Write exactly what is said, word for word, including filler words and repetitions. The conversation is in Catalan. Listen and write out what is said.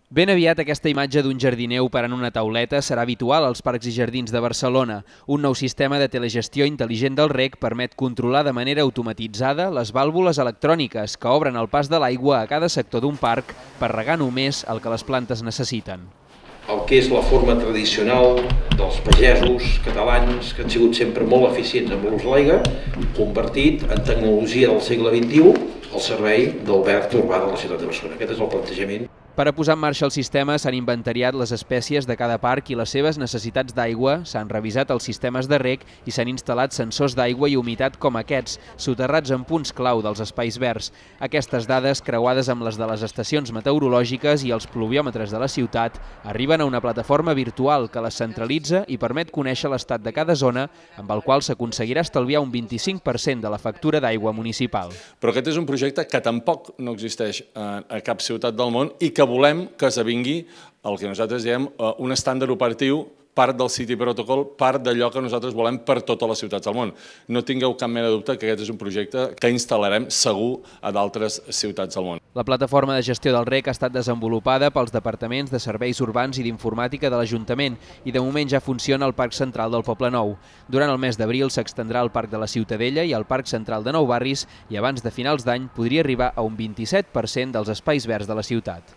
Ben aviat aquesta imatge d'un jardiner operant una tauleta serà habitual als parcs i jardins de Barcelona. Un nou sistema de telegestió intel·ligent del reg permet controlar de manera automatitzada les vàlvules electròniques que obren el pas de l'aigua a cada sector d'un parc per regar només el que les plantes necessiten. El que és la forma tradicional dels pagesos catalans, que han sigut sempre molt eficients amb l'ús de l'aigua, convertit en tecnologia del segle vint-i-u al servei del verd urbà de la ciutat de Barcelona. Aquest és el plantejament. Per a posar en marxa el sistema s'han inventariat les espècies de cada parc i les seves necessitats d'aigua, s'han revisat els sistemes de reg i s'han instal·lat sensors d'aigua i humitat com aquests, soterrats en punts clau dels espais verds. Aquestes dades, creuades amb les de les estacions meteorològiques i els pluviòmetres de la ciutat, arriben a una plataforma virtual que les centralitza i permet conèixer l'estat de cada zona, amb el qual s'aconseguirà estalviar un vint-i-cinc per cent de la factura d'aigua municipal. Però aquest és un projecte que tampoc no existeix a cap ciutat del món i que volem que esdevingui el que nosaltres diem un estàndard operatiu, part del City Protocol, part d'allò que nosaltres volem per totes les ciutats del món. No tingueu cap mena de dubte que aquest és un projecte que instal·larem segur a d'altres ciutats del món. La plataforma de gestió del reg ha estat desenvolupada pels departaments de serveis urbans i d'informàtica de l'Ajuntament i de moment ja funciona al Parc Central del Poblenou. Durant el mes d'abril s'extendrà al Parc de la Ciutadella i al Parc Central de Nou Barris i abans de finals d'any podria arribar a un vint-i-set per cent dels espais verds de la ciutat.